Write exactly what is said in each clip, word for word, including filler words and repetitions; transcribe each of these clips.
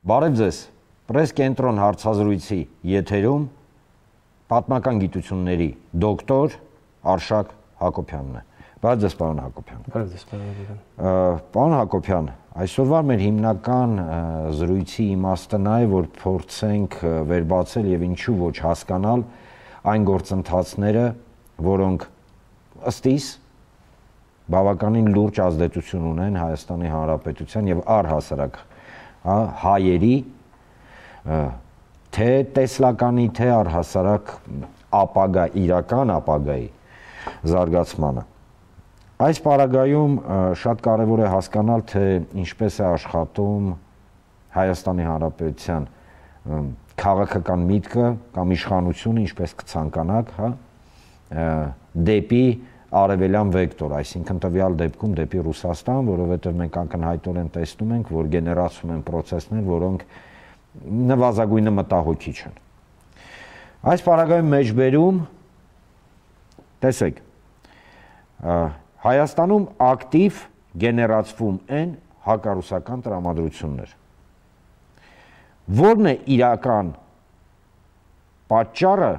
Բարև ձեզ, Պրես կենտրոն հարցազրույցի եթերում պատմական գիտությունների դոկտոր Արշակ Հակոբյանն է։ Բարև ձեզ, պարոն Հակոբյան։ Բարև ձեզ, պարոն Հակոբյան։ Պարոն Հակոբյան, այսօրվա մեր հիմնական զրույցի իմաստը նա է, որ փորձենք վերբացել եւ ինչու ոչ հասկանալ այն գործընթացները, որոնք ըստ իս բավականին լուրջ ազդեցություն ունեն Հայաստանի Հանրապետության եւ առհասարակ հայերի թե տեսլականի, թե առհասարակ ապագա, իրական ապագայի զարգացմանը։ Այս պարագայում շատ կարևոր է հասկանալ, թե ինչպես է աշխատում Հայաստանի Հանրապետության քաղաքական միտքը կամ իշխանությունը, ինչպես կցանկանաք, հա, դեպի արևելյան վեկտոր, այսինքն տվյալ դեպքում դեպի Ռուսաստան, որովհետև մենք ակնհայտորեն տեսնում ենք, որ գեներացվում են պրոցեսներ, որոնք նվազագույնը մտահոգիչ են։ Այս պարագայում մեջբերում, տեսեք, Հայաստանում ակտիվ գեներացվում են հակառուսական տրամադրություններ։ Որն է իրական պատճառը,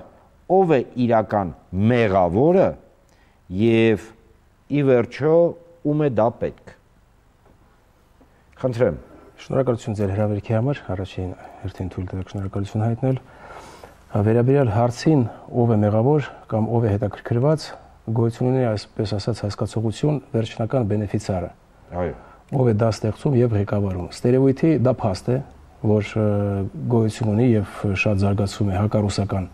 ով է իրական մեղավորը եւ ի վերջո ում է դա պետք։ Խնդրեմ։ Շնորհակալություն ձեր հրավերքի համար, առաջին հերթին թույլ տվեք շնորհակալություն հայտնել։ Վերաբերյալ հարցին, ով է մեղավոր կամ ով է հետաքրքրված, գոյություն ունի այսպես ասած հասկացողություն վերջնական բենեֆիցիարը։ Այո։ Ով է դա ստեղծում եւ ղեկավարում։ Ստերեոտիպի դա փաստ է, որ գոյություն ունի եւ շատ զարգացում է հակառուսական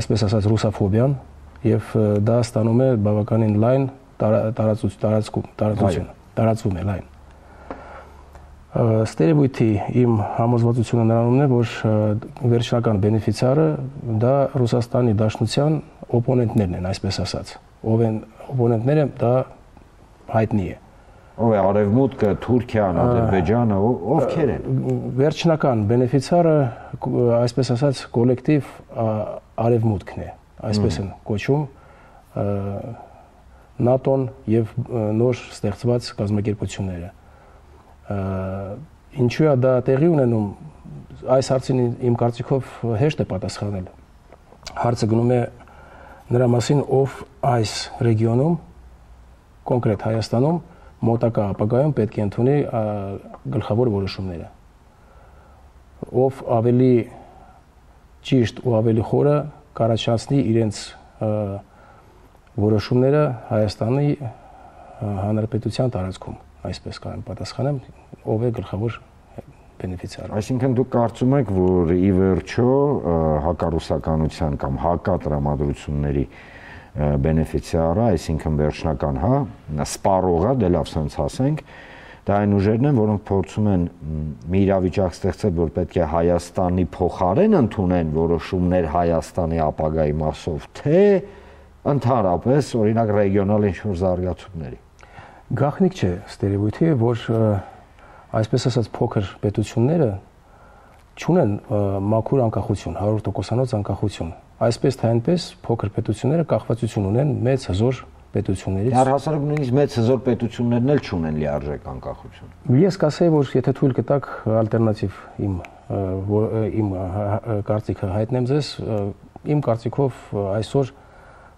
այսպես ասած ռուսաֆոբիան եւ դա ստանում է բավականին լայն տարածություն, տարածություն, տարածվում է լայն։ Ստերեոտիպի իմ համոզվածությունը նրանումն է, որ վերջնական բենեֆիցիարը դա Ռուսաստանի Դաշնության օպոնենտներն են, այսպես ասած։ Ով են օպոնենտները, դա հայտնի է։ Ով է Արևմուտքը, Թուրքիան, Ադրբեջանը, ովքեր են։ Վերջնական բենեֆիցիարը, այսպես ասած, կոլեկտիվ Արևմուտքն է, այսպես են կոչում ՆԱՏՕ-ն եւ նոր ստեղծված կազմակերպությունները։ Ինչու է դա տեղի ունենում, այս հարցին իմ կարծիքով հեշտ է պատասխանել։ Հարցը գնում է նրա մասին, ով այս ռեգիոնում, կոնկրետ Հայաստանում, մոտակա ապագայում պետք է ընդունի գլխավոր որոշումները։ Ով ավելի ճիշտ ու ավելի խորը կառաջացնի իրենց որոշումները Հայաստանի Հանրապետության տարածքում, այսպես կարող պատասխանեմ, ով է գլխավոր բենեֆիցիարը։ Այսինքն դուք կարծում եք, որ ի վերջո հակառուսականության կամ հակատրամադրությունների բենեֆիցիարը, այսինքն վերջնական, հա, սպառողը, դե լավ սենց ասենք, դա այն ուժերն են, որոնք փորձում են մի իրավիճակ ստեղծել, որ պետք է Հայաստանի փոխարեն ընդունեն որոշումներ Հայաստանի ապագայի մասով, թե ընդհանրապես, օրինակ, ռեգիոնալ ինչ-որ զարգացումների։ Գաղտնիք չէ ստերեոտիպը, որ այսպես ասած փոքր պետությունները չունեն մաքուր անկախություն, հարյուր տոկոսանոց անկախություն։ Այսպես թե այնպես փոքր պետությունները կախվածություն ունեն մեծ հզոր պետություններից։ Առհասարակ նույնիսկ մեծ հզոր պետություններն էլ չունեն լիարժեք անկախություն։ Ես կասեի, որ եթե թույլ կտաք ալտերնատիվ իմ իմ կարծիքը հայտնեմ ձեզ, իմ կարծիքով այսօր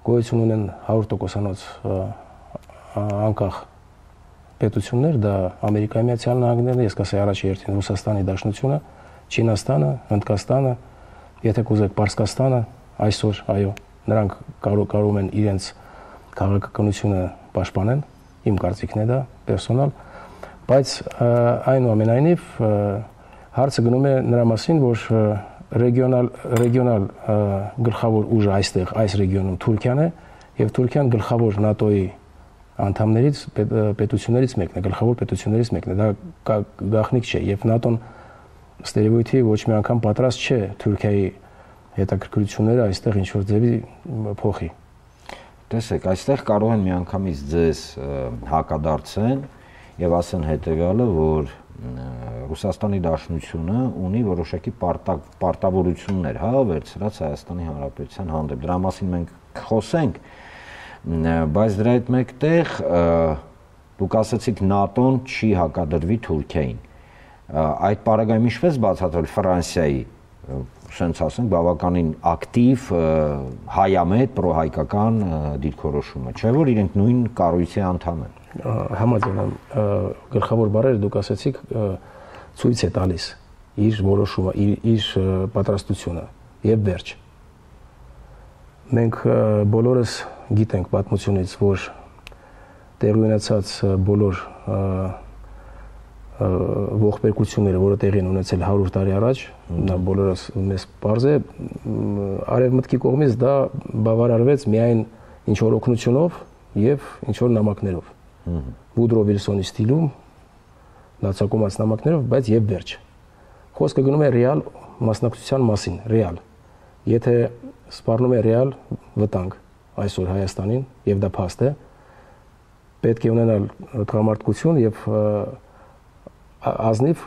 գոյություն ունեն հարյուր տոկոսանոց անկախ պետություններ, դա Ամերիկայի Միացյալ Նահանգներն են, ես կասեի առաջի հերթին Ռուսաստանի Դաշնությունը, Չինաստանը, Հնդկաստանը, եթե կուզեք Պարսկաստանը, այսօր, այո, նրանք կարող կարող են իրենց քաղաքականությունը պաշտպանեն, իմ կարծիքն է դա պերսոնալ, բայց այնուամենայնիվ հարցը գնում է նրա մասին, որ ռեգիոնալ ռեգիոնալ գլխավոր ուժը այստեղ այս ռեգիոնում Թուրքիան է եւ Թուրքիան գլխավոր ՆԱՏՕ-ի անդամներից պետություններից մեկն է, գլխավոր պետություններից մեկն է, դա գաղտնիք չէ եւ ՆԱՏՕ-ն ստերեոտիպի ոչ մի անգամ պատրաստ չէ Թուրքիայի հետաքրքրությունները այստեղ ինչ որ ձևի փոխի։ Տեսեք, այստեղ կարող են միանգամից ձեզ հակադարձեն եւ ասեն հետեւյալը, որ Ռուսաստանի Դաշնությունը ունի որոշակի պարտավորություններ, հա, վերցրած Հայաստանի Հանրապետության հանդեպ։ Դրա մասին մենք խոսենք, բայց դրա հետ մեկտեղ դուք ասացիք ՆԱՏՕ-ն չի հակադրվի Թուրքիային։ այդ պարագայում ինչպես բացատրել Ֆրանսիայի, ասենք ասենք, բավականին ակտիվ հայամետ պրոհայկական դիրքորոշումը, չէ՞ որ իրենք նույն կառույցի անդամ են։ Համաձայն եմ, գլխավոր բառերը դուք ասացիք, ցույց է տալիս իր որոշումը, իր, իր պատրաստությունը եւ վերջ։ Մենք բոլորս գիտենք պատմությունից, որ տեղի ունեցած բոլոր ողբերգությունները, որը տեղի են ունեցել հարյուր տարի առաջ, դա բոլորս մեզ պարզ է, արևմտքի կողմից դա բավարարվեց միայն ինչ որ օգնությունով եւ ինչ որ նամակներով։ Վուդրո Վիլսոնի ստիլում լացակոմած նամակներով, բայց եւ վերջ։ Խոսքը գնում է ռեալ մասնակցության մասին, ռեալ։ Եթե սպառնում է ռեալ վտանգ այսօր Հայաստանին եւ դա փաստ է, պետք է ունենալ տղամարդկություն եւ ազնիվ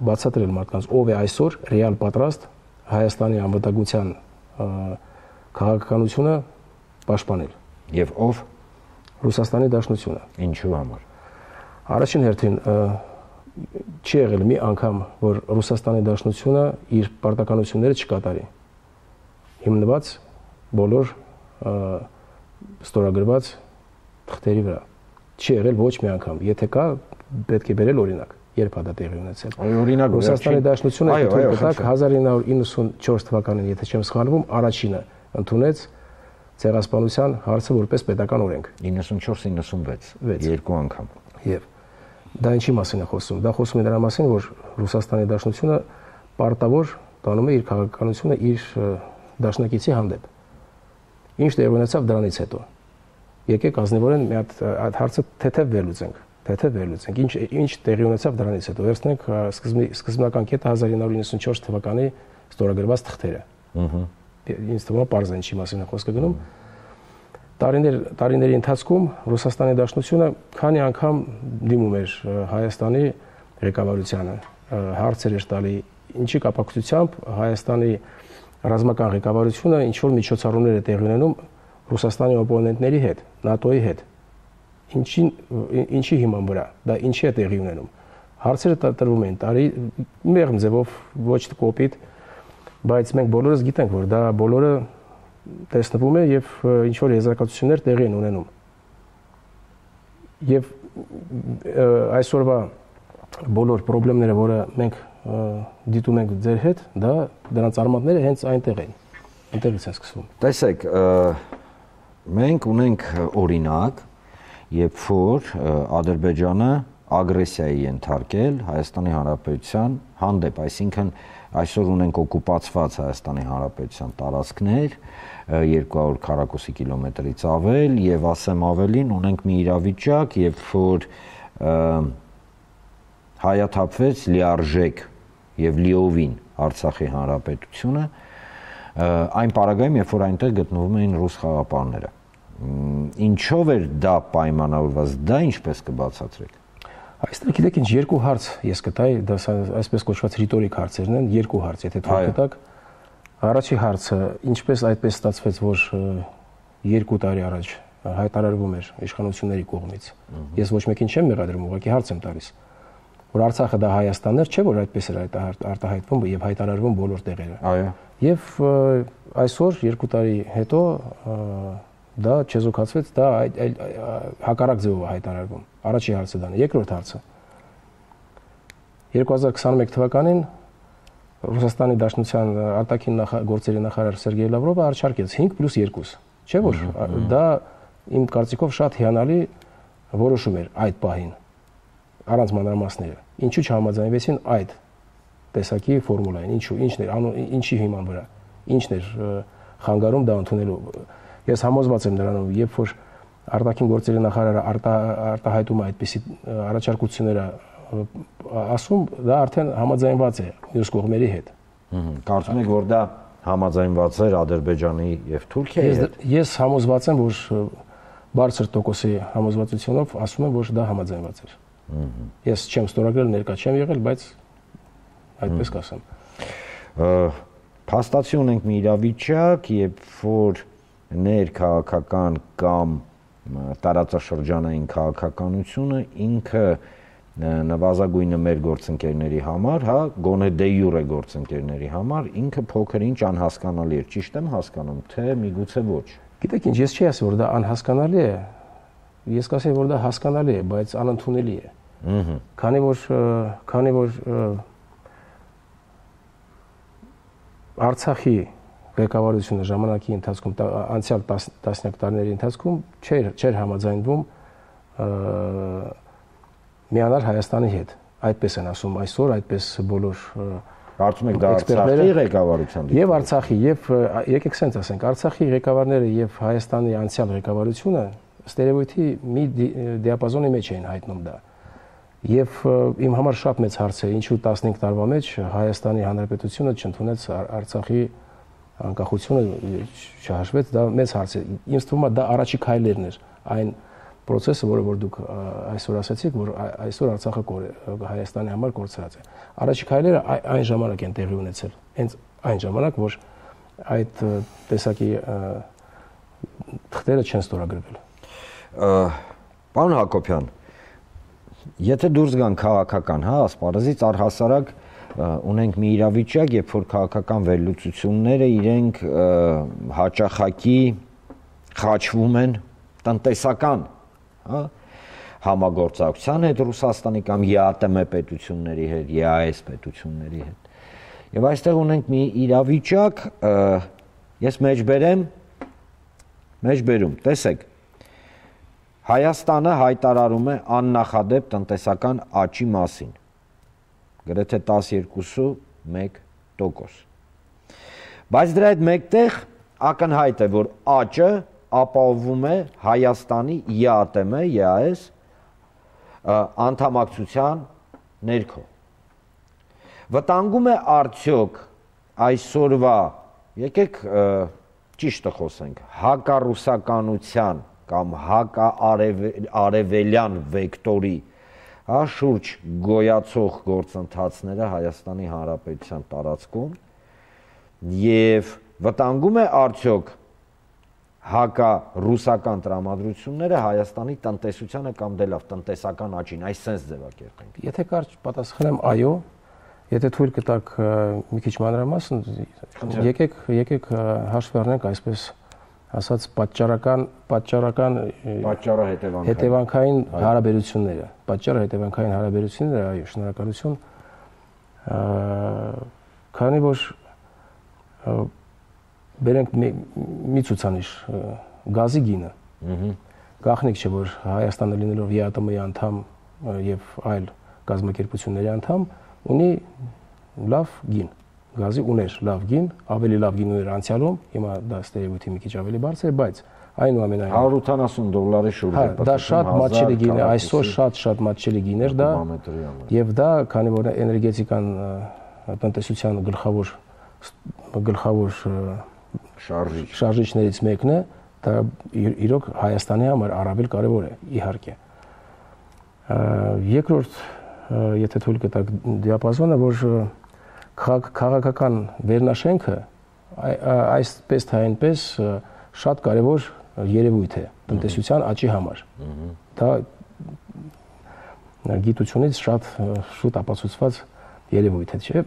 բացատրել մարդկանց ով է այսօր ռեալ պատրաստ Հայաստանի անվտանգության քաղաքականությունը պաշտպանել եւ ով Ռուսաստանի Դաշնությունը։ Ինչու համար։ Առաջին հերթին չի եղել մի անգամ, որ Ռուսաստանի Դաշնությունը իր պարտականությունները չկատարի։ Հիմնված բոլոր ստորագրված թղթերի վրա։ Չի եղել ոչ մի անգամ։ Եթե կա, պետք է բերել օրինակ, երբ է դա տեղի ունեցել։ Օրինակ Ռուսաստանի Դաշնությունը հազար ինը հարյուր իննսունչորս թվականին, եթե չեմ սխալվում, առաջինը ընդունեց ցեղասպանության հարցը որպես պետական օրենք։ իննսունչորս իննսունվեց, երկու անգամ։ Եվ դա ինչի մասին է խոսում։ Դա խոսում է դրա մասին, որ Ռուսաստանի Դաշնությունը պարտավոր տանում է իր քաղաքականությունը իր դաշնակիցի հանդեպ։ Ինչ տեղի ունեցավ դրանից հետո։ Եկեք ազնիվորեն մի հատ այդ հարցը թեթև վերլուծենք, թեթև վերլուծենք։ Ինչ ինչ տեղի ունեցավ դրանից հետո։ Վերցնենք սկզբնական կետը հազար ինը հարյուր իննսունչորս թվականի ստորագրված թղթերը։ Ահա։ Ինձ թվում է պարզ է ինչի մասին է խոսքը գնում։ Տարիներ տարիների ընթացքում Ռուսաստանի Դաշնությունը քանի անգամ դիմում էր Հայաստանի ղեկավարությանը, հարցեր էր տալի, ինչի կապակցությամբ Հայաստանի ռազմական ղեկավարությունը ինչ որ միջոցառումներ է տեղի ունենում Ռուսաստանի օպոնենտների հետ, ՆԱՏՕ-ի հետ։ Ինչի ինչի հիման վրա, դա ինչի է տեղի ունենում։ Հարցերը տրվում են տարի մեղմ ձևով, ոչ կոպիտ, բայց մենք բոլորս գիտենք, որ դա բոլորը տեսնվում է եւ ինչ որ եզրակացություններ տեղի են ունենում։ Եվ այսօրվա բոլոր խնդիրները, որը մենք դիտում ենք ձեր հետ, դա դրանց արմատները հենց այնտեղ են։ Այնտեղից են սկսվում։ Տեսեք, մենք ունենք օրինակ, երբ որ Ադրբեջանը ագրեսիայի ենթարկել Հայաստանի Հանրապետության հանդեպ, այսինքն այսօր ունենք օկուպացված Հայաստանի Հանրապետության տարածքներ երկու հարյուր քառակուսի կիլոմետրից ավել եւ ասեմ ավելին ունենք մի իրավիճակ, երբ որ հայաթափվեց լիարժեք եւ լիովին Արցախի Հանրապետությունը այն պարագայում, երբ որ այնտեղ գտնվում էին ռուս խաղապանները։ Ինչով էր դա պայմանավորված, դա ինչպես կբացատրեք։ Այստեղ գիտեք ինչ երկու հարց ես կտայի, դա այսպես կոչված ռիտորիկ հարցերն են, երկու հարց, եթե թույլ կտաք։ Առաջի հարցը, ինչպես այդպես ստացվեց, որ երկու տարի առաջ հայտարարվում էր իշխանությունների կողմից։ Ես ոչ մեկին չեմ մեղադրում, ուղղակի հարց եմ տալիս, որ Արցախը դա Հայաստանն էր, չէ՞ որ այդպես էր արտահայտվում եւ հայտարարվում բոլոր տեղերը։ Այո։ Եվ այսօր երկու տարի հետո դա չեզոքացվեց, դա հակառակ ձևով է հայտարարվում։ Առաջի հարցը դա է, երկրորդ հարցը։ երկու հազար քսաներեք թվականին Ռուսաստանի Դաշնության արտաքին գործերի նախարար Սերգեյ Լավրովը առաջարկեց հինգ պլյուս երկու, չէ՞ որ դա իմ կարծիքով շատ հիանալի որոշում էր այդ պահին, առանց մանրամասները։ Ինչու չհամաձայնվեցին այդ տեսակի ֆորմուլային, ինչու, ինչն էր, ինչի հիման վրա, ինչն էր խանգարում դա ընդունելու։ Ես համոզված եմ նրանով, երբ որ արտաքին գործերի նախարարը արտահայտում է այդպիսի առաջարկությունները ասում, դա արդեն համաձայնված է մյուս կողմերի հետ։ Կարծում եք, որ դա համաձայնված էր Ադրբեջանի եւ Թուրքիայի հետ։ Ես համոզված եմ, որ բարձր տոկոսի համոզվածությունով ասում եմ, որ դա համաձայնված էր։ Ես չեմ ստորագրել, ներկա չեմ եղել, բայց այդպես կասեմ։ Փաստացի ունենք մի իրավիճակ, երբ որ ներքաղաքական կամ տարածաշրջանային քաղաքականությունը ինքը նվազագույնը մեր գործընկերների համար, հա, գոնե դե յուրե գործընկերների համար ինքը փոքր-ինչ անհասկանալի է, ճիշտ եմ հասկանում, թե միգուցե ոչ։ Գիտեք ինչ, ես չի ասի, որ դա անհասկանալի է, ես կասեի, որ դա հասկանալի է, բայց անընդունելի է։ Ահա։ Քանի որ քանի որ Արցախի ղեկավարությունը ժամանակի ընթացքում անցյալ տասնյակ տարիների ընթացքում չէր չէր համաձայնվում միանալ Հայաստանի հետ։ Այդպես են ասում այսօր, այդպես բոլոր Կարծում եք դա Արցախի ղեկավարության եւ Արցախի եւ եկեք սենց ասենք, Արցախի ղեկավարները եւ Հայաստանի անցյալ ղեկավարությունը ստերեոտիպի մի դիապազոնի մեջ էին հայտնում դա։ Եվ իմ համար շատ մեծ հարց է, ինչու տասնհինգ տարվա մեջ Հայաստանի Հանրապետությունը չընդունեց Արցախի անկախությունը, չհաշվեց, դա մեծ հարց է։ Ինձ թվում է դա առաջի քայլերն էր, այն process-ը, որը որ դուք այսօր ասացիք, որ այսօր Արցախը Հայաստանի համար կորցրած է։ Առաջի քայլերը այն ժամանակ են տեղի ունեցել, հենց այն ժամանակ, որ այդ տեսակի թղթերը չեն ստորագրվել։ Պարոն Հակոբյան, եթե դուրս գան քաղաքական, հա, ասպարեզից առհասարակ ունենք մի իրավիճակ, երբ որ քաղաքական վերլուծությունները իրենք հաճախակի խաչվում են տնտեսական, հա, համագործակցության հետ Ռուսաստանի կամ ԵԱՏՄ պետությունների հետ, ԵԱԵՍ պետությունների հետ։ Եվ այստեղ ունենք մի իրավիճակ, ես մեջբերեմ, մեջբերում, տեսեք, Հայաստանը հայտարարում է աննախադեպ տնտեսական աճի մասին, գրեթե տասնյոթ մեկ տոկոս։ Բայց դրա հետ մեկտեղ ակնհայտ է, որ աճը ապահովում է Հայաստանի ԵԱՏՄ, ԵԱԵՍ անդամակցության ներքո։ Վտանգում է արդյոք այսօրվա, եկեք ճիշտը խոսենք, հակառուսականության կամ հակաարևելյան վեկտորի, հա, շուրջ գոյացող գործընթացները Հայաստանի Հանրապետության տարածքում եւ վտանգում է արդյոք հակառուսական տրամադրությունները Հայաստանի տնտեսությանը կամ դե լավ տնտեսական աճին, այս sense ձևակերպենք։ Եթե կարճ պատասխանեմ այո, եթե թույլ կտաք մի քիչ մանրամասն, եկեք եկեք հաշվի առնենք այսպես ասած պատճառական պատճառական պատճառը հետևանքային հետևանքային հարաբերությունները, պատճառը հետևանքային հարաբերությունները, այո, շնորհակալություն, քանի որ բերենք մի ցուցանիշ գազի գինը, գաղտնիք չէ, որ Հայաստանը լինելով ԵԱՏՄ-ի անդամ եւ այլ գազམ་ակերպությունների անդամ ունի լավ գին, գազի ուներ լավ գին, ավելի լավ գին ուներ անցյալում, հիմա դա ստերեոտիպի մի քիչ ավելի բարձր է, բայց այնուամենայնիվ հարյուր ութանասուն դոլարի շուրջ է, դա շատ մատչելի գին է, այսօր շատ-շատ մատչելի գիներ դա, եւ դա, քանի որ էներգետիկան տնտեսության գլխավոր գլխավոր շարժիչ շարժիչներից մեկն է, դա իրոք Հայաստանի համար առավել կարևոր է, իհարկե։ Երկրորդ, եթե թույլ կտաք դիապազոնը, որ քաղաքական վերնաշենքը այսպես թե այնպես շատ կարևոր երևույթ է տնտեսության աճի համար։ Դա գիտությունից շատ շուտ ապացուցված երևույթ է, չէ՞,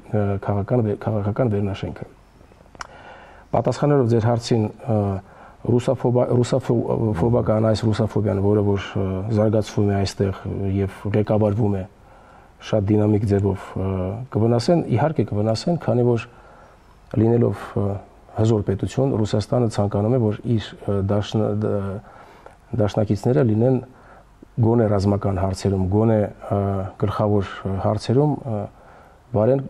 քաղաքական քաղաքական վերնաշենքը։ Պատասխանելով ձեր հարցին, ռուսաֆոբական այս ռուսաֆոբիան, որը որ զարգացվում է այստեղ եւ ղեկավարվում է շատ դինամիկ ձևով, կվնասեն, իհարկե կվնասեն, քանի որ լինելով հզոր պետություն, Ռուսաստանը ցանկանում է, որ իր դաշնակիցները լինեն գոնե ռազմական հարցերում, գոնե գլխավոր հարցերում վարեն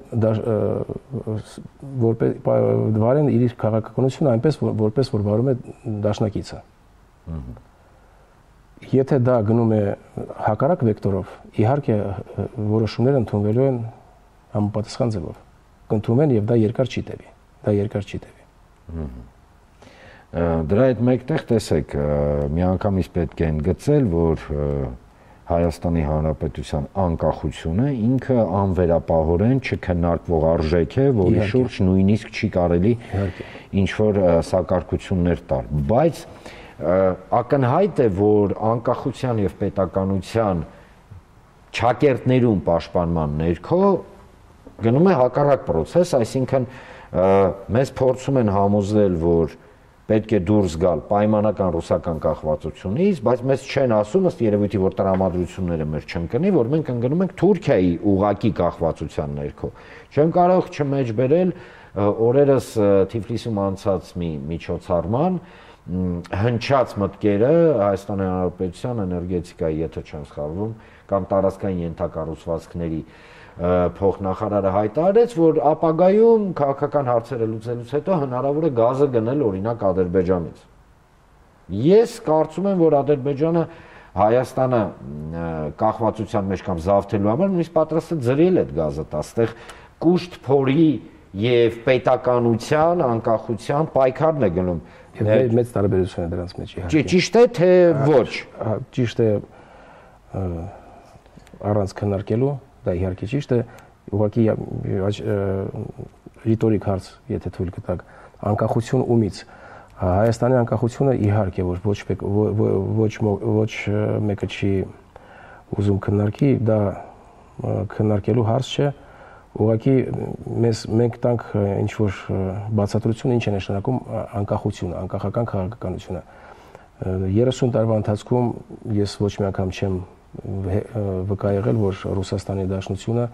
վարեն իր քաղաքականությունը այնպես, որպես որ վարում է դաշնակիցը։ Եթե դա գնում է հակառակ վեկտորով, իհարկե որոշումները ընդունվելու են համապատասխան ձևով, կընդունվեն եւ դա երկար չի տևի, դա երկար չի տևի։ Դրա հետ մեկտեղ տեսեք, միանգամից պետք է ընդգծել, որ Հայաստանի Հանրապետության անկախությունը ինքը անվերապահորեն չքննարկվող արժեք է, որի շուրջ նույնիսկ չի կարելի ինչ որ սակարկություններ տալ, բայց ակնհայտ է, որ անկախության եւ պետականության չակերտներում պաշտպանման ներքո գնում է հակառակ process, այսինքն մեզ փորձում են համոզել, որ պետք է դուրս գալ պայմանական ռուսական կախվածությունից, բայց մեզ չեն ասում, ըստ երևույթի, որ տրամադրությունները մեր չընկնի, որ մենք ընկնում ենք Թուրքիայի ուղակի կախվածության ներքո։ Չեմ կարող չմեջբերել օրերս Թիֆլիսում անցած մի միջոցառման հնչած մտքերը Հայաստանի Հանրապետության էներգետիկայի, եթե չեմ սխալվում, կամ տարածքային ենթակառուցվածքների փոխնախարարը հայտարարեց, որ ապագայում քաղաքական հարցերը լուծելուց հետո հնարավոր է գազը գնել օրինակ Ադրբեջանից։ Ես կարծում եմ, որ Ադրբեջանը Հայաստանը կախվածության մեջ կամ զավթելու համար նույնիսկ պատրաստ է ձրել այդ գազը տա, այստեղ կուշտ փորի եւ պետականության, անկախության պայքարն է գնում։ Եվ մեծ տարբերություն է դրանց մեջ իհարկե։ Ճիշտ է, թե ոչ։ Ճիշտ է, առանց քննարկելու, դա իհարկե ճիշտ է, ուղղակի ռիտորիկ հարց, եթե թույլ կտաք, անկախություն ումից։ Հայաստանի անկախությունը իհարկե որ ոչ ոչ ոչ մեկը չի ուզում քննարկի, դա քննարկելու հարց չէ, ուղղակի մեզ մենք տանք ինչ որ բացատրություն, ինչ է նշանակում անկախությունը, անկախական քաղաքականությունը։ երեսուն տարվա ընթացքում ես ոչ մի անգամ չեմ վկա եղել, որ Ռուսաստանի Դաշնությունը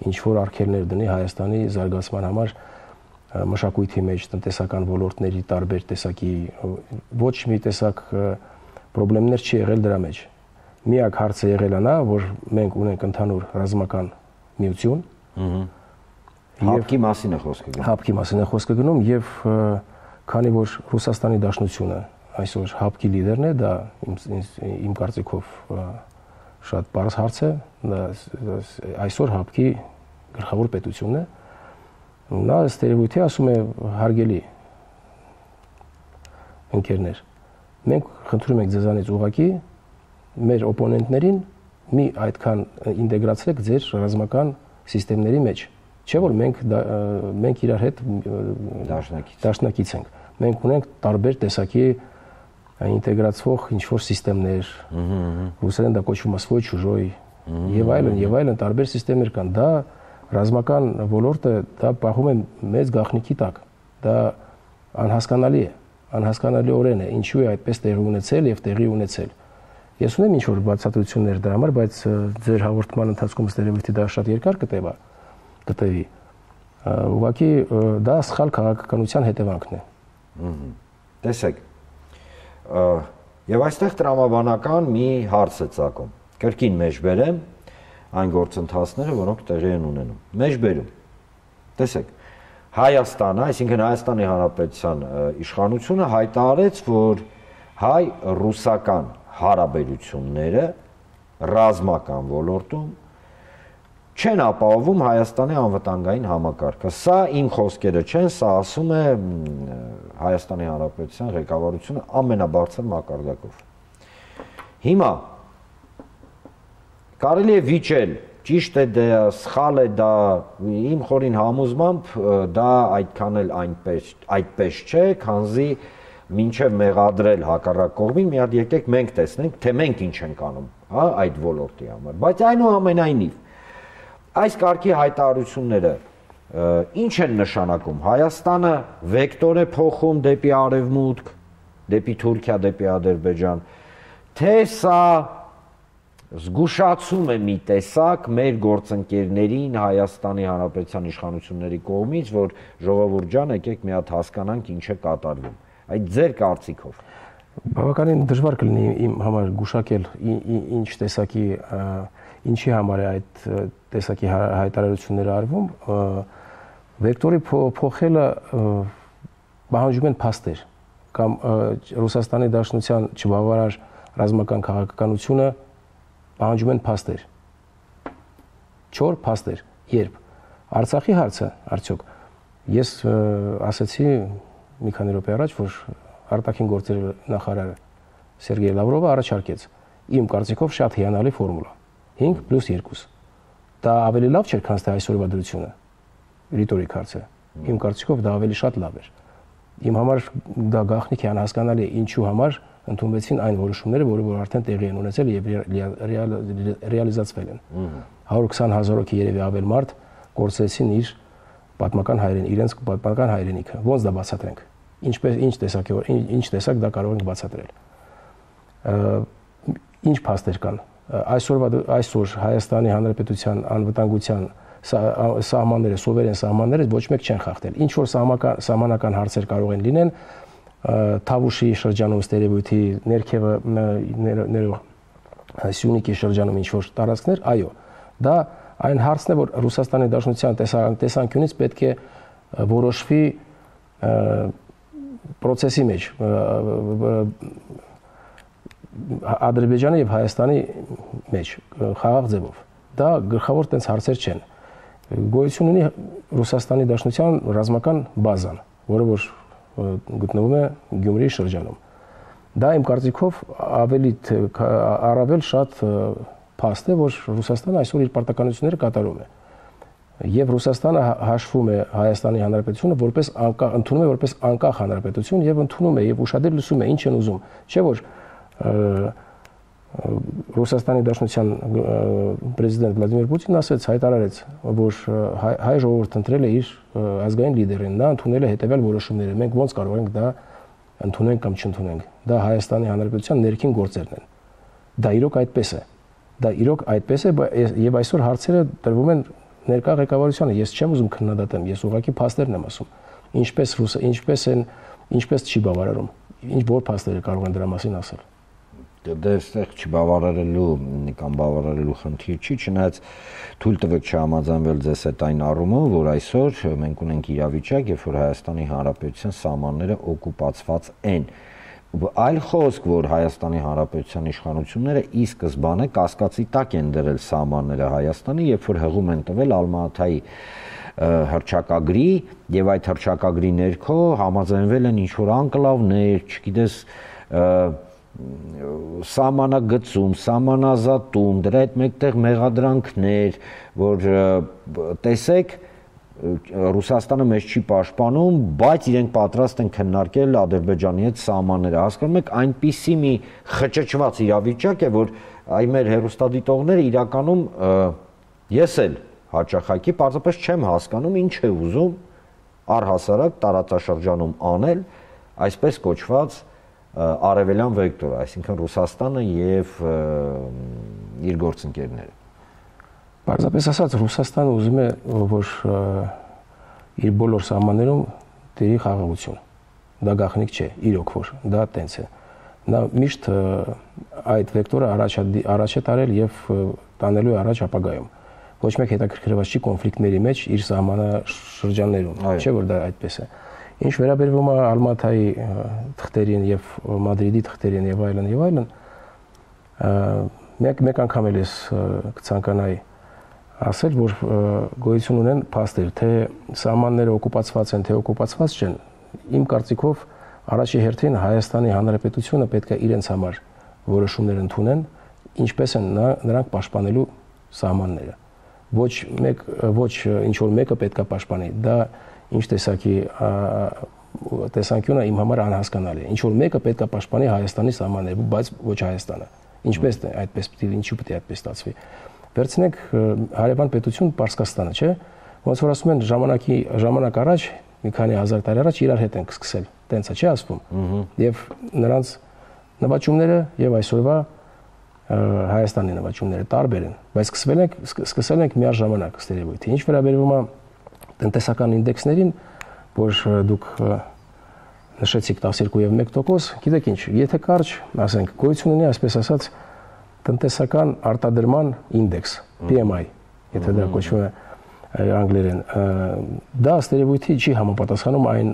ինչ որ արգելներ դնի Հայաստանի զարգացման համար մշակույթի մեջ, տնտեսական ոլորտների տարբեր տեսակի ոչ մի տեսակ խնդիրներ չի եղել դրա մեջ։ Միակ հարցը եղել է նա, որ մենք ունենք ընդհանուր ռազմական միություն, հապկի մասին է խոսքը գնում։ Հապկի մասին է խոսքը գնում եւ քանի որ Ռուսաստանի Դաշնությունը այսօր հապկի լիդերն է, դա իմ կարծիքով շատ բարձ հարց է, այսօր հապկի գլխավոր պետությունն է, նա ըստ երևույթի ասում է հարգելի ընկերներ, մենք խնդրում ենք ձեզանից ուղղակի մեր օպոնենտներին մի այդքան ինտեգրացրեք ձեր ռազմական սիստեմների մեջ, չէ՞ որ մենք մենք իրար հետ դաշնակից ենք, մենք ունենք տարբեր տեսակի ինտեգրացվող ինչ-որ սիստեմներ, ռուսերեն դա կոչվում է свой чужой, եւ այլն, եւ այլն տարբեր սիստեմներ կան, դա ռազմական ոլորտը դա պահում է մեծ գաղտնիքի տակ, դա անհասկանալի է, անհասկանալիորեն է, ինչու է այդպես տեղի ունեցել եւ տեղի ունեցել։ Ես ունեմ ինչ-որ բացատրություններ դրա համար, բայց ձեր հաղորդման ընթացքում ստերևույթի դա շատ երկար կտևա, կտևի, ուղղակի դա սխալ քաղաքականության հետևանքն է։ Տեսեք, եւ այստեղ տրամաբանական մի հարց է ծագում։ Կրկին մեջբերեմ այն գործընթացները, որոնք տեղի են ունենում։ Մեջբերում։ Տեսեք, Հայաստանը, այսինքն Հայաստանի Հանրապետության իշխանությունը հայտարարեց, որ հայ-ռուսական հարաբերությունները ռազմական ոլորտում չեն ապահովում Հայաստանի անվտանգային համակարգը։ Սա իմ խոսքերը չեն, սա ասում է Հայաստանի Հանրապետության ղեկավարությունը ամենաբարձր մակարդակով։ Հիմա կարելի է վիճել, ճիշտ է դա, սխալ է դա, իմ խորին համոզմամբ դա այդքան էլ այնպես այդպես չէ, քանզի մինչև մեղադրել հակառակ կողմին, մի հատ եկեք մենք տեսնենք, թե մենք ինչ ենք անում, հա, այդ ոլորտի համար։ Բայց այնուամենայնիվ այս կարգի հայտարարությունները ինչ են նշանակում։ Հայաստանը վեկտոր է փոխում դեպի արևմուտք, դեպի Թուրքիա, դեպի Ադրբեջան, թե սա զգուշացում է մի տեսակ մեր գործընկերներին Հայաստանի Հանրապետության իշխանությունների կողմից, որ ժողովուրդ ջան, եկեք մի հատ հասկանանք ինչ է կատարվում։ Այդ ձեր կարծիքով։ Բավականին դժվար կլինի իմ համար գուշակել ինչ տեսակի ինչի համար է այդ տեսակի հայտարարությունները արվում, վեկտորի փոխելը պահանջում են փաստեր կամ Ռուսաստանի Դաշնության չբավարար ռազմական քաղաքականությունը պահանջում են փաստեր։ Չոր փաստեր, երբ Արցախի հարցը արդյոք ես ասացի մի քանի րոպե առաջ, որ արտաքին գործերի նախարար Սերգեյ Լավրովը առաջարկեց իմ կարծիքով շատ հիանալի ֆորմուլա հինգ պլյուս երկու։ Դա ավելի լավ չէր, քան թե այսօրվա դրությունը։ Ռիտորիկ հարց է։ Իմ կարծիքով դա ավելի շատ լավ էր։ Իմ համար դա գաղտնիք է, անհասկանալի է, ինչու համար ընդունվեցին այն որոշումները, որը որ արդեն տեղի են ունեցել եւ ռեալիզացվել են։ հարյուր քսան հազար հոգի երևի ավել մարդ կորցրեցին իր պատմական հայրեն, իրենց պատմական հայրենիքը։ Ոնց դա բացատրենք։ Ինչպես ինչ տեսակ ինչ տեսակ դա կարող ենք բացատրել։ Ինչ փաստեր կան։ Այսօրվա այսօր Հայաստանի Հանրապետության անվտանգության սահմանները, սովերեն սահմանները ոչ մեկ չեն խախտել։ Ինչ որ սահմանական հարցեր կարող են լինեն, Թավուշի շրջանում ստերեոյթի ներքևը ներող Սյունիքի շրջանում ինչ որ տարածքներ, այո, դա այն հարցն է, որ Ռուսաստանի Դաշնության տեսանկյունից պետք է որոշվի process-ի մեջ Ադրբեջանի եւ Հայաստանի մեջ խաղաղ ձևով։ Դա գլխավոր տենց հարցեր չեն։ Գոյություն ունի Ռուսաստանի Դաշնության ռազմական բազան, որը որ գտնվում է Գյումրիի շրջանում։ Դա իմ կարծիքով ավելի առավել շատ փաստ է, որ Ռուսաստանը այսօր իր պարտականությունները կատարում է։ Եվ Ռուսաստանը հաշվում է Հայաստանի Հանրապետությունը որպես անկախ, ընդունում է որպես անկախ հանրապետություն եւ ընդունում է եւ ուշադիր լսում է ինչ են ուզում։ Չէ՞ որ Ռուսաստանի Դաշնության պրեզիդենտ Վլադիմիր Պուտինն ասեց, հայտարարեց, որ հայ ժողովուրդը ընտրել է իր ազգային լիդերին, նա ընդունել է հետեւյալ որոշումները։ Մենք ո՞նց կարող ենք դա ընդունենք կամ չընդունենք։ Դա Հայաստանի Հանրապետության ներքին գործերն են։ Դա իրոք այդպես է։ Դա իրոք այդպես է եւ այսօր հարցերը տրվում են ներկա ղեկավարությանը։ Ես չեմ ուզում քննադատեմ, ես ուղղակի փաստերն եմ ասում։ Ինչպես ռուսը, ինչպես են, ինչպես չի բավարարում։ Ինչ որ փաստեր կարող են դրա մասին ասել։ Դե այստեղ չբավարարելու կամ բավարարելու խնդիր չի, չնայած թույլ տվեք չհամաձայնվել ձեզ այդ այն առումով, որ այսօր մենք ունենք իրավիճակ, երբ որ Հայաստանի Հանրապետության սահմանները օկուպացված են։ Այլ խոսք, որ Հայաստանի Հանրապետության իշխանությունները ի սկզբանե կասկածի տակ են դրել սահմանները Հայաստանի, երբ որ հղում են տվել Ալմատայի հռչակագրի եւ այդ հռչակագրի ներքո համաձայնվել են ինչ-որ անկլավներ, չգիտես, սահմանագծում, սահմանազատում, դրա հետ մեկտեղ մեղադրանքներ, որ տեսեք Ռուսաստանը մեզ չի պաշտպանում, բայց իրենք պատրաստ են քննարկել Ադրբեջանի հետ սահմանները։ Հասկանում եք, այնպիսի մի խճճված իրավիճակ է, որ այ մեր հեռուստադիտողները իրականում ես էլ հաճախակի պարզապես չեմ հասկանում ինչ է ուզում առհասարակ տարածաշրջանում անել այսպես կոչված արևելյան վեկտորը, այսինքն Ռուսաստանը եւ իր գործընկերները։ Պարզապես ասած, Ռուսաստանը ուզում է, որ իր բոլոր սահմաններում տերի խաղաղություն։ Դա գաղտնիք չէ, իրոք որ, դա տենց է։ Նա միշտ այդ վեկտորը առաջ է տարել եւ տանելու է առաջ ապագայում։ Ոչ մեկ հետաքրքրված չի կոնֆլիկտների մեջ իր սահմանաշրջաններում, չէ՞ որ դա այդպես է։ Ինչ վերաբերվում է Ալմատայի թղթերին եւ Մադրիդի թղթերին եւ այլն եւ այլն, մեկ մեկ անգամ էլ ես կցանկանայի ասել, որ գոյություն ունեն փաստեր, թե սահմանները օկուպացված են, թե օկուպացված չեն։ Իմ կարծիքով առաջի հերթին Հայաստանի Հանրապետությունը պետք է իրենց համար որոշումներ ընդունեն, ինչպես են նրանք պաշտպանելու սահմանները։ Ոչ մեկ ոչ ինչ որ մեկը պետք է պաշտպանի։ Դա ինչ տեսակի տեսանկյունը իմ համար անհասկանալի է։ Ինչ որ մեկը պետք է պաշտպանի Հայաստանի սահմանները, բայց ոչ Հայաստանը։ Ինչպես է այդպես պիտի ինչու պիտի այդպես ստացվի։ Վերցնենք հարևան պետություն Պարսկաստանը, չէ՞։ Ոնց որ ասում են ժամանակի ժամանակ առաջ, մի քանի հազար տարի առաջ իրար հետ ենք սկսել։ Տենց է, չի ասվում։ Եվ նրանց նվաճումները եւ այսօրվա Հայաստանի նվաճումները տարբեր են, բայց սկսվել ենք սկսել ենք միաժամանակ ստերեոյթի։ Ինչ վերաբերվում է տնտեսական ինդեքսներին, որ դուք նշեցիք տասներկու եւ մեկ տոկոս, գիտեք ինչ, եթե կարճ, ասենք, գոյություն ունի, այսպես ասած, տնտեսական արտադրման ինդեքս, P M I, եթե դա կոչվում է անգլերեն, դա ստերեոյթի չի համապատասխանում այն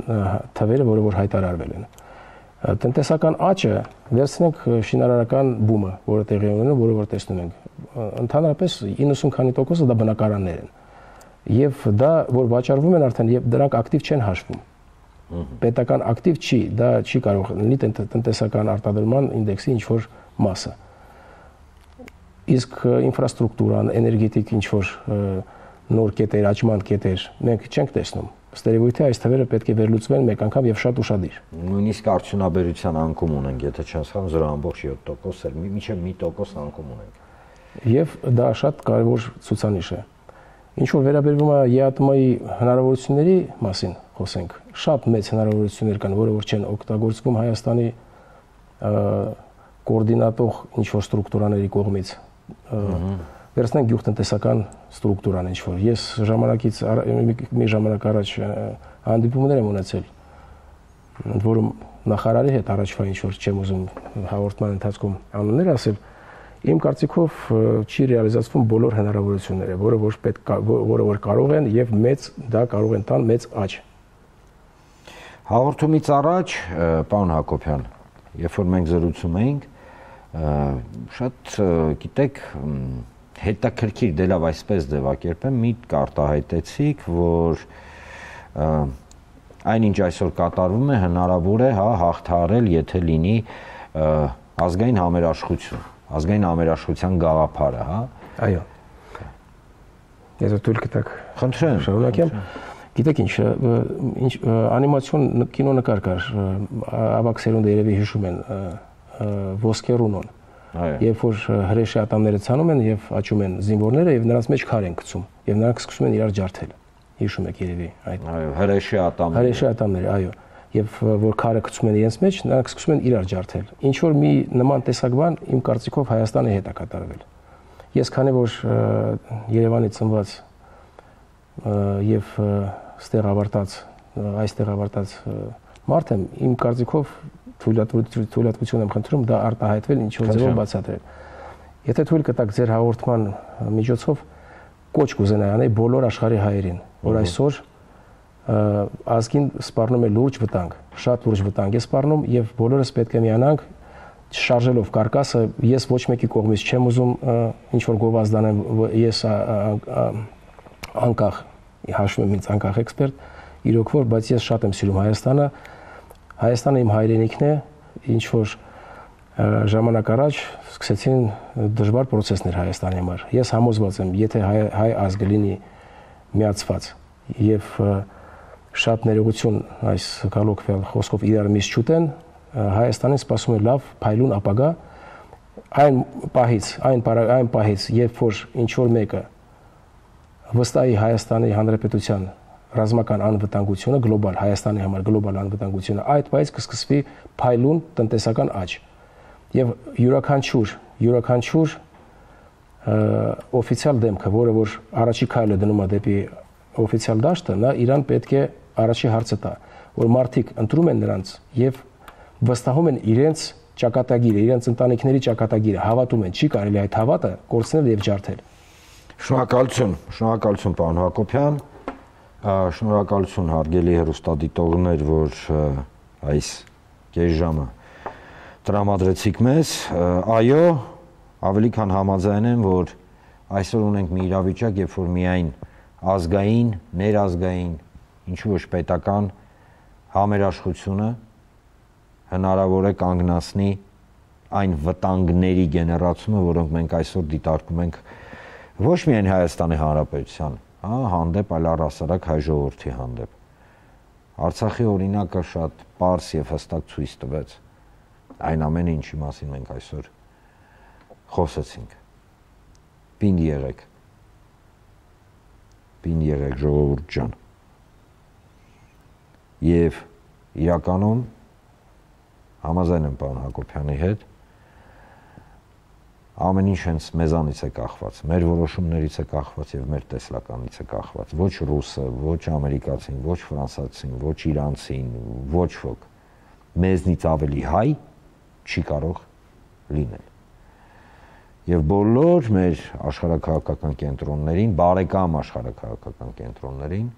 թվերը, որը որ հայտարարվել են։ Տնտեսական աճը վերցնենք շինարարական բումը, որը տեղի է ունենում, որը որ տեսնում ենք, ընդհանրապես իննսուն քանի տոկոսը դա բնակարաններ են։ Եվ դա որ վաճառվում են արդեն եւ դրանք ակտիվ չեն հաշվում։ Պետական ակտիվ չի, դա չի կարող լինի տնտեսական արտադրման ինդեքսի ինչ որ մասը։ Իսկ ինֆրաստրուկտուրան, էներգետիկ ինչ որ նոր կետեր, աճման կետեր մենք չենք տեսնում։ ստերեոյթի այս թվերը պետք է վերլուծվեն մեկ անգամ եւ շատ ուշադիր։ Նույնիսկ արդյունաբերության անկում ունենք, եթե չասխան զրո ամբողջ յոթ տոկոս էլ, մինչև մի տոկոս անկում ունենք։ Եվ դա շատ կարևոր ցուցանիշ է։ Ինչ որ վերաբերվում է ԵԱՏՄ-ի հնարավորությունների մասին խոսենք, շատ մեծ հնարավորություններ կան, որը որ չեն օգտագործվում Հայաստանի կոորդինատող ինչ որ ստրուկտուրաների կողմից։ Վերցնենք գյուղտնտեսական ստրուկտուրան ինչ որ։ Ես ժամանակից մի ժամանակ առաջ հանդիպումներ եմ ունեցել, ընդ որում նախարարի հետ առաջվա ինչ որ չեմ ուզում հաղորդման ընթացքում անուններ ասել, իմ կարծիքով չի ռեալիզացվում բոլոր հնարավորությունները, որը որ պետք որը որ կարող են եւ մեծ դա կարող են տան մեծ աճ։ Հաղորդումից առաջ, պարոն Հակոբյան, երբ որ մենք զրուցում էինք, շատ գիտեք հետաքրքիր դե լավ այսպես ձևակերպեմ, միտք արտահայտեցիք, որ այնինչ այսօր կատարվում է հնարավոր է հա հաղթահարել, եթե լինի ազգային համերաշխություն, ազգային համերաշխության գաղափարը, հա։ Այո։ Եթե դուք կտակ խնդրեմ, շարունակեմ։ Գիտեք ինչ, ինչ անիմացիոն կինոնկար կար, ավագ սերունդը երևի հիշում են Ոսկերունոն։ Երբ որ հրեշի ատամները ցանում են եւ աճում են զինվորները եւ նրանց մեջ քար են գցում եւ նրանք սկսում են իրար ջարդել։ Հիշում եք երևի այդ։ Այո, հրեշի ատամները։ Հրեշի ատամները, այո։ Եվ որ քարը գցում են իրենց մեջ, նրանք սկսում են իրար ջարդել։ Ինչ որ մի նման տեսակ բան իմ կարծիքով Հայաստանի հետ է կատարվել։ Ես քանի որ Երևանի ծնված եւ ստեղ ավարտած, այստեղ ավարտած մարդ եմ, իմ կարծիքով թույլատվություն եմ խնդրում դա արտահայտվել ինչ որ ձևով բացատրել։ Եթե թույլ կտաք ձեր հաղորդման միջոցով կոչ կուզենայի անել բոլոր աշխարհի հայերին, որ այսօր ազգին սպառնում է լուրջ վտանգ, շատ լուրջ վտանգ է սպառնում եւ բոլորս պետք է միանանք շարժելով կարկասը, ես ոչ մեկի կողմից չեմ ուզում ինչ որ գովազդանեմ, ես անկախ հաշվում եմ ինձ անկախ էքսպերտ, իրոք որ, բայց ես շատ եմ սիրում Հայաստանը, Հայաստանը իմ հայրենիքն է, ինչ որ ժամանակ առաջ սկսեցին դժվար process-ներ Հայաստանի համար։ Ես համոզված եմ, եթե հայ, հայ ազգը լինի միացված եւ շատ ներողություն այս գալոկվել խոսքով իրար միշտ չուտեն, Հայաստանին սպասում է լավ փայլուն ապագա, այն պահից, այն այն պահից, երբ որ ինչ որ մեկը վստահի Հայաստանի Հանրապետության ռազմական անվտանգությունը, գլոբալ Հայաստանի համար գլոբալ անվտանգությունը, այդ պահից կսկսվի փայլուն տնտեսական աճ։ Եվ յուրաքանչյուր, յուրաքանչյուր օֆիցիալ դեմքը, որը որ առաջի քայլը դնում է դեպի օֆիցիալ դաշտը, նա իրան պետք է առաջի հարցը տա, որ մարդիկ ընտրում են նրանց եւ վստահում են իրենց ճակատագիրը, իրենց ընտանիքների ճակատագիրը, հավատում են, չի կարելի այդ հավատը կորցնել եւ ջարդել։ Շնորհակալություն, շնորհակալություն պարոն Հակոբյան, շնորհակալություն հարգելի հեռուստադիտողներ, որ այս կես ժամը տրամադրեցիք մեզ։ Այո, ավելի քան համաձայն եմ, որ այսօր ունենք մի իրավիճակ, երբ որ միայն ազգային, ներազգային, ինչու ոչ պետական համերաշխությունը հնարավոր է կանգնացնի այն վտանգների գեներացումը, որոնք մենք այսօր դիտարկում ենք ոչ միայն Հայաստանի Հանրապետության, հա, հանդեպ, այլ առհասարակ հայ ժողովրդի հանդեպ։ Արցախի օրինակը շատ պարզ եւ հստակ ցույց տվեց այն ամենը, ինչի մասին մենք այսօր խոսեցինք։ Պինդ եղեք։ Պինդ եղեք ժողովուրդ ջան։ Եվ իրականում համաձայն եմ պարոն Հակոբյանի հետ, ամեն ինչ հենց մեզանից է կախված, մեր որոշումներից է կախված եւ մեր տեսլականից է կախված, ոչ ռուսը, ոչ ամերիկացին, ոչ ֆրանսացին, ոչ իրանցին, ոչ ոք մեզնից ավելի հայ չի կարող լինել։ Եվ բոլոր մեր աշխարհաքաղաքական կենտրոններին, բարեկամ աշխարհաքաղաքական կենտրոններին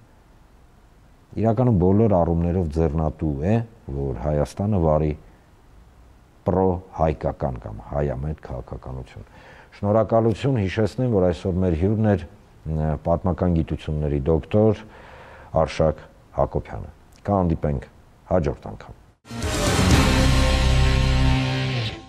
իրականում բոլոր առումներով ձեռնատու է, որ Հայաստանը վարի պրո-հայկական կամ հայամետ քաղաքականություն։ Շնորհակալություն, հիշեցնեմ, որ այսօր մեր հյուրն էր պատմական գիտությունների դոկտոր Արշակ Հակոբյանը։ Կհանդիպենք հաջորդ անգամ։